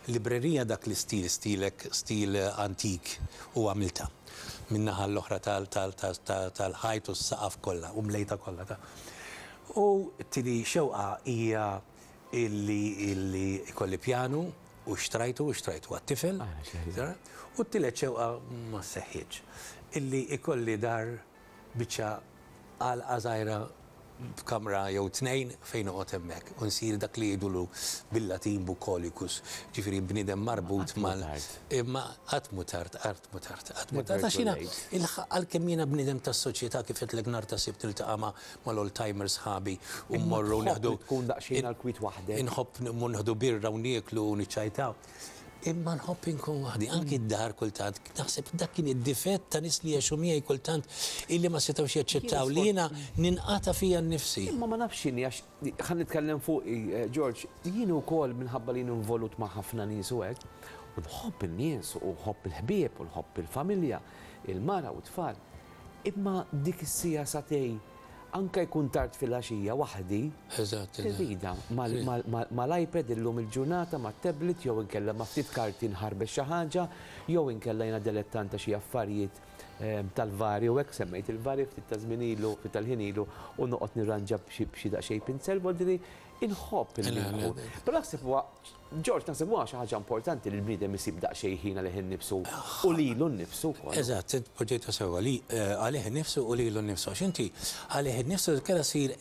Librerija dak l-istil, stilek, stil antik u għamiltha. Min-naħa l-oħra tal-ħajt u s-saqaf kollha u mlejtha kollha ta'. U t-tieni xewqa hija illi illi jkolli pjanu u xtrajtu u xtrajtu għat-tifel. U t-tielet xewqa ma seħħitx. Illi jkolli dar biċċa għalqa żgħira b'kamra jew tnejn fejn noqgħod hemmhekk u nsir dak li jgħidulu bil-Latin bucolicus, ġifieri bniedem marbut mal. Imma qatt mhu tard, qatt mhu tard, qatt mhu tard. Għax jiena għalkemm jiena bniedem tas-soċjetà kif għedtlek nhar ta' Sibt niltaqa' ma' mal-old timers sħabi u mmorru nieħdu. Tkun daqsxejn għall-kwiet waħdek. Inħobb mmur nieħdu birra u nieklu u niċċajtaw. Imma nħobb inkun waħdi, anki d-dar kultant, naħseb dak kien id-difett ta' nies li għexu miegħi kultant illi ma setgħux jaċċettaw li jiena ninqata' fija nnifsi. Imma ma nafx x'inhi għax ħa nitkellem fuqi, George, jien ukoll minħabba li jien involut ma' ħafna nies u hekk, u nħobb in-nies u nħobb il-ħbieb u nħobb il-familja, il-mara u t-tfal. Imma dik is-siegħa sagħtejn anke jkun tard filgħaxija waħdi, irridha mal-iPad illum il-ġurnata, mat-tablet jew inkella ma' ftit karti nħarbex xi ħaġa, jew inkella jiena delettant ta' xi affarijiet tal-vari u hekk, semmejt il-vari ftit ta' żmien ilu, ftit tal-ħin ilu, u noqgħod nirranġa b'xi daqsxejn pinsel, vuol dire inħobb illi nkun. Però naħseb huwa George, naħseb huwa xi ħaġa importanti li l-bniedem isib daqsxejn ħin għalih innifsu u lilu nnifsu wkoll. Eżatt, int poġġejtha sewwa, li għalih innifsu u lilu nnifsu. Għax inti għalih innifsu kellha ssir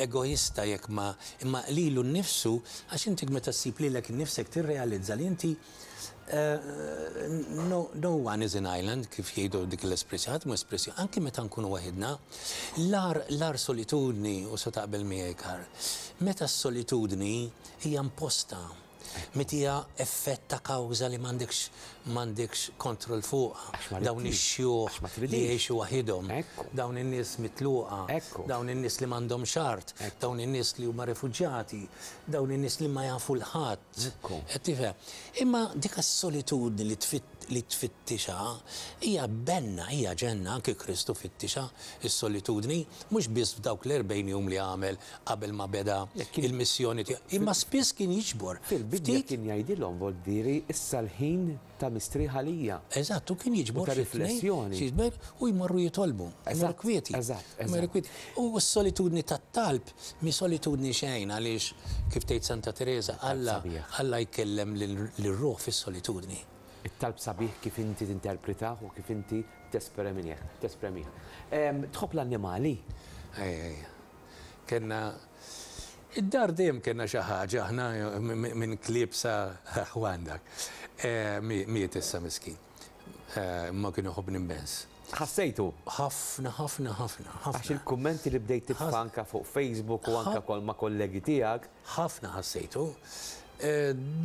egoista jekk ma, imma lilu nnifsu, għax inti meta ssib lilek innifsek tirrealizza li inti no, no one is an island, kif jgħidu dik l-espressjoni, ħadd mhu espressjoni, anki meta nkunu waħidna, l-agħar, l-agħar solitudni, u se taqbel miegħi Karl, meta s-solitudni Hija imposta, meta hija effett ta' kawża li m'għandekx m'għandekx kontroll fuqha. Dawn ix-xjuħ li jgħixu waħidhom, dawn in-nies mitluqa, dawn in-nies li m'għandhomx art, dawn in-nies li huma refuġjati, dawn in-nies li ma jafu 'l ħadd. Qed tifhem? Imma dik is-solitudni li li tfittixha hija benna, hija ġenna, anki Kristu fittixha s-solitudni, mhux biss f'dawk l-erbgħin jum li għamel qabel ma beda il-missjoni tiegħu, imma spiss kien jiġbor Fil-Bibbja ftit. kien jgħidilhom, Voldieri, issa l-ħin ta' mistrieħ għalija. Eżatt, u kien U jiġbor ta' xi tnejn, riflessjoni. xi tnejn, u jmorru jitolbu, jmorru Eżatt, kwieti. eżatt, Jmorru eżatt. kwieti. U s-solitudni tat-talb mhi solitudni xejn għaliex, kif tgħid Santa Tereża, It-talb Alla, sabiħ. Alla jkellem lir-ruħ fis-solitudni. It-talb sabiħ kif inti tinterpretah u kif inti tespremih, tespremih. Tħobb l-annimali? Ejja, ejja. Kellna Id-dar dejjem kellna xi ħaġa aħna minn klieb sa ħwan dak. Miet issa miskin. Imma kien iħobbni immens. Ħassejtu? Ħafna, ħafna, ħafna, ħafna. Għax il-kummenti li bdejt titfa' anke fuq Facebook u anke ma' kollegi tiegħek. Ħafna ħassejtu.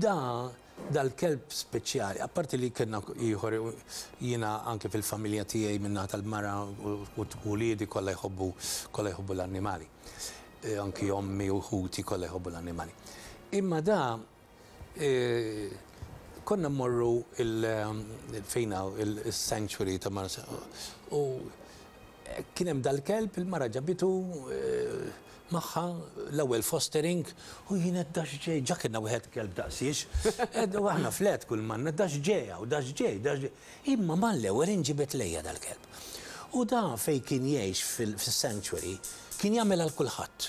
Da Dal-kelb speċjali, apparti li kellna ieħor jiena anke fil-familja tiegħi min-naħa tal-mara u uliedi kollha jħobbu kollha jħobbu l-annimali. Anki ommi u ħuti kollha jħobbu l-annimali. Imma da konna mmorru fejn hawn il-sanctuary ta' Marsa u Kien hemm dal-kelb, il-mara ġabitu magħha, l-ewwel fostering, u jien għedt dax ġej, ġa kellna wieħed kelb daqsiex, u aħna flat kull m'għandna, dax ġej hawn, dax ġej, dax ġej. Imma mal-ewwel inġibed lejja dal-kelb. U da fejn kien jgħix fis-sanctuary, kien jagħmel għal kulħadd.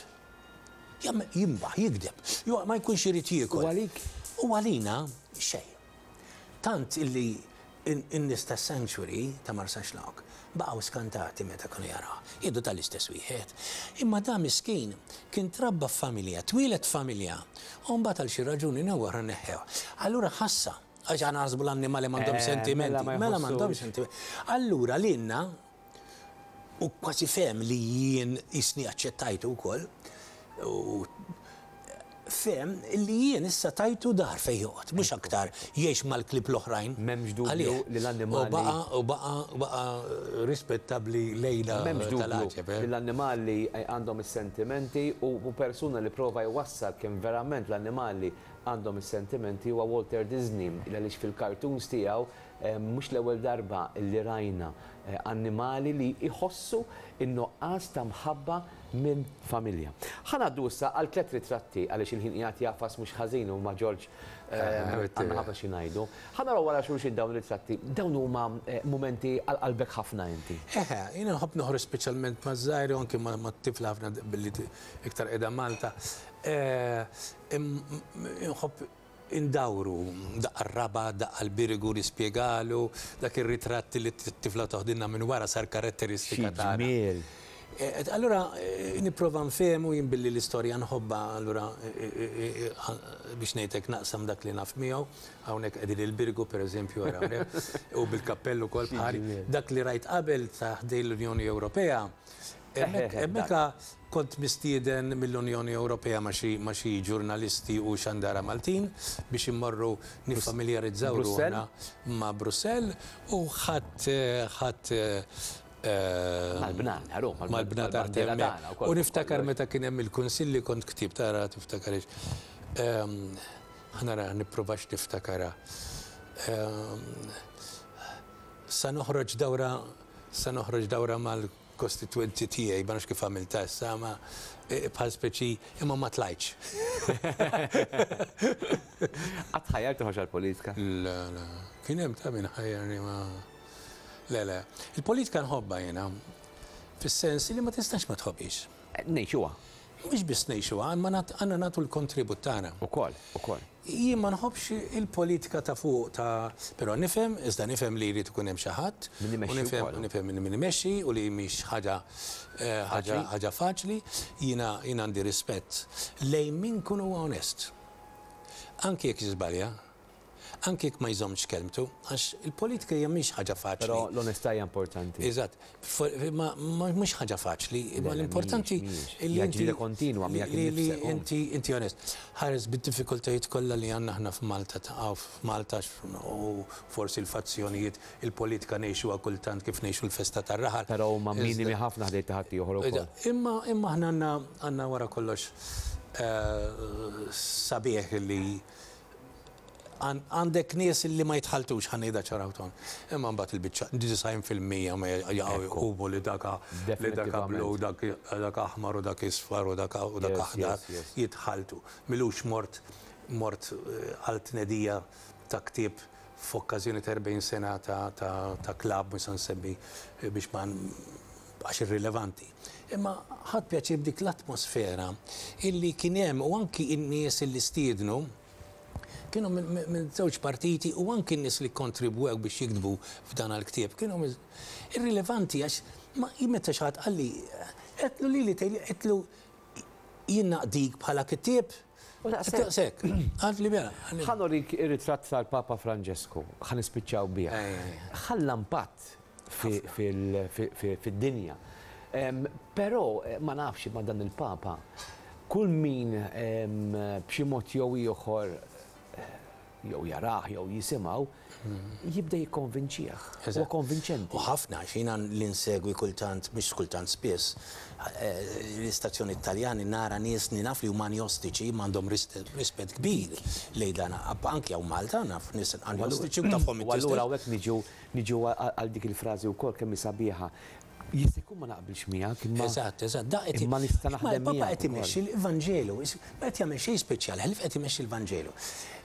Jimbaħ, jigdeb, ma jkunx irid jiekol. U għalik? U għalina xejn. Tant illi n-nies tas-sanctuary ta' Marsaxlokk baqgħu skantati meta kienu jarawh. Jgħidu dan l-istess wieħed. Imma dan miskin kien trabba f'familja, twieled f'familja u mbagħad għal xi raġuni jew oħra neħħewh. Allura ħassha, għax aħna naħsbu l-annimali m'għandhomx sentimenti. Mela m'għandhomx sentimenti. Allura lilna u kważi fehem li jien qisni aċċettajtu wkoll, u fehem li jien issa tajtu dar fejn joqgħod, mhux aktar jgħix mal-klieb l-oħrajn. M'hemmx dubju li l-annimali. U baqa' u baqa' baqa' rispettabbli lejna M'hemmx dubju li l-annimali għandhom is-sentimenti u persuna li prova jwassal kemm verament l-annimali għandhom is-sentimenti huwa Walter Disney, għaliex fil-cartoons tiegħu Mhux l-ewwel darba li rajna annimali li jħossu n-nuqqas ta' mħabba minn familja. Ħa ngħaddu issa għal tlett ritratti għaliex il-ħin qiegħed jagħfas mhux ħażin u ma' George għandna ħafna xi ngħidu. Ħa naraw wara xulxin dawn ir-ritratti. Dawn huma mumenti għal qalbek ħafna inti. Eħe, jiena nħobb noħroġ speċjalment maż-żgħir u anki mat-tifla ħafna billi iktar qiegħda Malta. Inħobb Indawru, daqqa r-raba', daqqa l-Birgu, nispjegalu, dak ir-ritratt li t-tifla toħdilna minn wara sar karatteristika tagħna. Xi ġmiel! Allura nipprova nfehmu jien billi l-istorja nħobbha allura biex ngħid hekk naqsam dak li naf miegħu. Hawnhekk qegħdin il-Birgu pereżempju ara hawnhekk u bil-kappell ukoll bħali. Dak li rajt qabel ta' ħdejn l-Unjoni Ewropea, hemmhekk hemmhekk. Kont mistieden mill-Unjoni Ewropea ma' xi ma' xi ġurnalisti u xandara Maltin biex immorru niffamiljarizzaw ruħna ma' Brussell u ħadt ħadt Mal-bnadar, u mal-bnadar t'hemmhekk. U niftakar meta kien hemm il-Kunsill li kont ktibt, tara tiftakarhiex. Ħa nara nipprovax niftakarha. Sa noħroġ dawra sa noħroġ dawra mal-kostitwenti tiegħi, ma nafx kif għamiltha issa, ma bħal speċi imma ma tlajtx. Qatt ħajjar toħroġ għall-politika? Le, le. Kien hemm ta' min ħajjarni ma. Le, le. Il-politika nħobbha jiena. Fis-sens li ma tistax ma tħobbhiex. Ngħixuha. Mhux biss ngħixuha, imma għandna nagħtu l-kontribut tagħna. Ukoll, ukoll. Jien ma nħobbx il-politika ta' fuq ta' però nifhem, iżda nifhem li jrid ikun hemm xi ħadd. Min imexxi wkoll. U nifhem min imexxi u li mhix ħaġa ħaġa ħaġa faċli. Jiena jiena għandi rispett lejn min ikun huwa onest. Anki jekk jiżbalja. Anki jekk ma jżommx kelmtu, għax il-politika hija mhix ħaġa faċli. Però l-onestà hija importanti. Eżatt. Ma mhux ħaġa faċli, imma l-importanti li inti. Ġlieda kontinwa miegħek innifsek. Li inti inti onest. Ħares bid-diffikultajiet kollha li għandna aħna f'Malta f'Malta u forsi l-fazzjonijiet, il-politika ngħixuha kultant kif ngħixu l-festa tar-raħal. Però huma minimi ħafna ħdejn ta' ħaddieħor ukoll. Imma imma aħna għandna għandna wara kollox sabiħ li Għandek nies li ma jitħalltux, ħa ngħidha ċara u tond. Imma mbagħad il-biċċa, 90% ma jaqgħu jqumu li dak li dak blu, dak dak aħmar u dak isfar u dak u dak aħdar jitħalltu. M'ilux mort mort għal tnedija ta' ktieb f'okkażjoni ta' 40 sena ta' ta' klabb, mhux se nsemmi biex ma għax irrilevanti. Imma ħadt pjaċir b'dik l-atmosfera illi kien hemm u anki n-nies illi stiednu kienu minn żewġ partiti u anki n-nies li kkontribwew biex jiktbu f'dan l-ktieb kienu irrilevanti għax ma meta xi ħadd qalli għedtlu lili tgħidli għedtlu jien naqdik bħala kittieb U daqshekk. Daqshekk. Qaltli mela. Ħa nurik ir-ritratt tal-Papa Franġesku, ħa nispiċċaw bih. Ħalla impatt fid-dinja. Però ma nafx imma dan il-Papa, kull min b'xi mod jew ieħor jew jarah jew jisimgħu, jibda jikkonvinċih. Huwa konvinċenti. U ħafna, għax jiena li nsegwi kultant, mhux kultant spiss, l-istazzjonijiet Taljani nara nies li naf li huma anjostiċi imma għandhom rispett kbir lejn dan, anki hawn Malta naf nies anjostiċi u tafhom U allura hawnhekk niġu Niġu għal dik il-frażi wkoll kemm hi sabiħa. Jista' jkun ma naqbilx miegħek imma. Eżatt, eżatt. Da qed Imma nista' naħdem miegħek. Il-Papa qed imexxi l-Vanġelu. Ma qed jagħmel xejn speċjali, ħlief qed imexxi l-Vanġelu.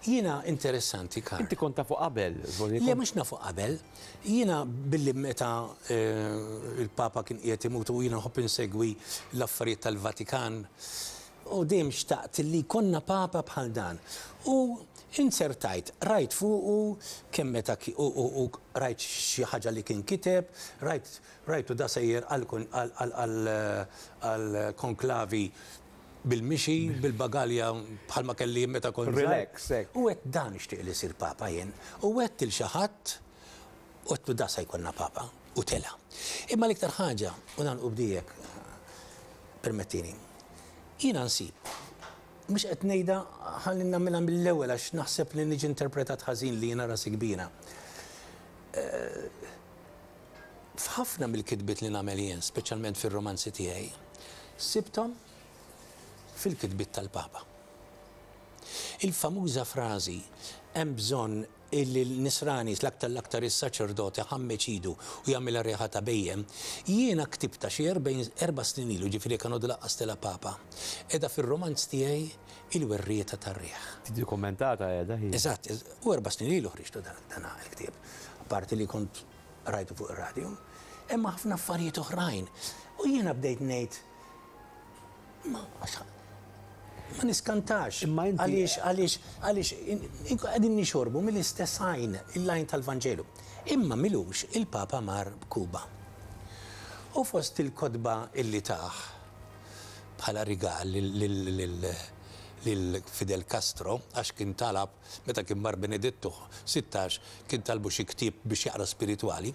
Jiena interessanti, Karl. Inti kont tafu qabel? Le, mhux nafu qabel. Jiena billi meta l-Papa kien qiegħed imut u jiena nħobb insegwi l-affarijiet tal-Vatikan, U dejjem xtaqt li jkollna Papa bħal dan. U inzertajt, qrajt fuqu kemm meta u u qrajt xi ħaġa li kien kiteb, rajt rajtu da sejjer għall-konklavi bil-mixi, bil-bagalja bħalma kelli jien meta kont żgħir. Relax, hekk. U għedt dan nixtieq li jsir Papa jien. U għedt lil xi ħadd, u għedtlu da se jkollna Papa. U tela'. Imma l-iktar ħaġa, u nagħlqu b'dijek, Permettini. Jiena nsib, mhux qed ngħidha ħalli nagħmilha mill-ewwel għax naħseb li niġi interpretat ħażin li jiena rasi kbira. F'ħafna mill-kitbiet li nagħmel jien, speċjalment fir-romanzi tiegħi, sibthom fil-kitbiet tal-Papa. Il-famuża frażi hemm bżonn Illi l-Nisrani, l-aktar l-aktar is-saċerdot iħammeġ idu u jagħmilha riħa ta' bhejjem, jiena ktibtha xi erba' snin ilu, jiġifieri jekk għandu laqqas tela' Papa, qiegħda fir-rumanz tiegħi Il-Werrieta tar-Riħ. Ddokumentata qiegħda hi. Eżatt, u erba' snin ilu ħriġtu dan il-ktieb, apparti li kont qrajtu fuq ir-radju. Hemm ħafna affarijiet oħrajn. U jiena bdejt ngħid, Ma ma niskantax. Imma inti. Għaliex, għaliex, għaliex qegħdin nixorbu mill-istess għajn, il-għajn tal-Vanġelu. Imma m'ilux il-Papa mar Kuba. U fost il-kotba illi tah bħala rigal lil Fidel Castro għax kien talab meta kien mar Benedittu 16 kien talbu xi ktieb biex jaqra spiritwali,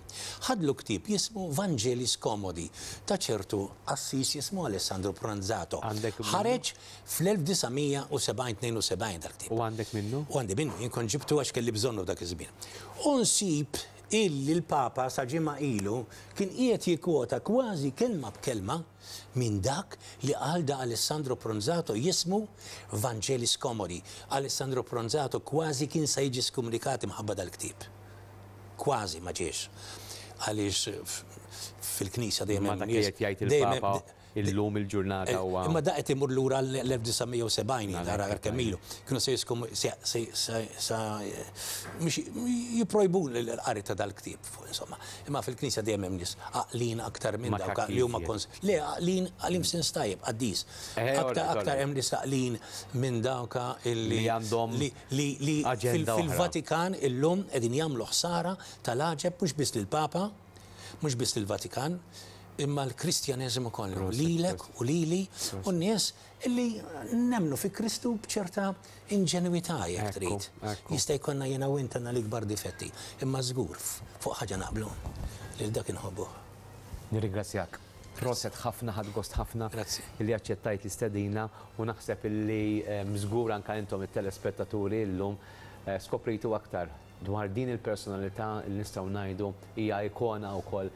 ħadlu ktieb jismu Vangeli Scomodi ta' ċertu qassis jismu Alessandro Pronzato. Għandek minnu? Ħareġ fl-1972 dal-ktieb. U għandek minnu? U għandi minnu, jien kont ġibtu għax kelli bżonnu f'dak iż-żmien. U nsib illi l-Papa sa ġimgħa ilu kien qiegħed jikkwota kważi kelma b'kelma minn dak li qal da Alessandro Pronzato jismu Vangeli Scomodi. Alessandro Pronzato kważi kien sa jiġi skumnikat imħabba dal-ktieb. Kważi ma ġiex. Għaliex fil-Knisja dejjem Imma hemm dak li nies qed jgħid dejjem il-Papa illum il-ġurnata huwa. Imma da qed imur lura l-1970 jien ara kemm ilu. Kienu se jiskum se se se mhux jipprojbu l-qari ta' dal-ktieb insomma. Imma fil-Knisja dejjem hemm nies għaqlin aktar minn dawk li huma kons le għaqlin għaqlin f'sens tajjeb, qaddis. Aktar aktar hemm nies għaqlin minn dawk illi Li għandhom li li li aġenda oħra. fil-Vatikan illum qegħdin jagħmlu ħsara tal-għaġeb mhux biss lill-Papa, mhux biss lill-Vatikan, imma l-Kristjaneżmu kollu, lilek u lili u n-nies illi nemmnu fi Kristu b'ċerta inġenwità jekk trid. Jista' jkollna jiena u int għandna l-ikbar difetti, imma żgur fuq ħaġa naqblu, lil dak inħobbuh. Nirringrazzjak. Proset ħafna, ħadt gost ħafna illi aċċettajt l-istedina u naħseb illi żgur anke intom it-telespettaturi llum skoprejtu aktar dwar din il-personalità li nistgħu ngħidu hija ikona wkoll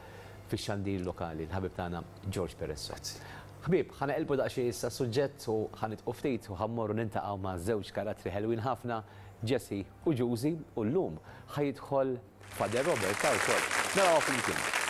fix-xandir lokali, l-ħabib tagħna George Peresso. Ħbieb, ħa neqilbu daqsxejn issa s-suġġett u ħa nidqu ftit u ħa mmorru niltaqgħu ma' żewġ karattri ħelwin ħafna, Jessie u Ġużi, u llum ħa jidħol Father Robert ta' wkoll. Narawha flimkien.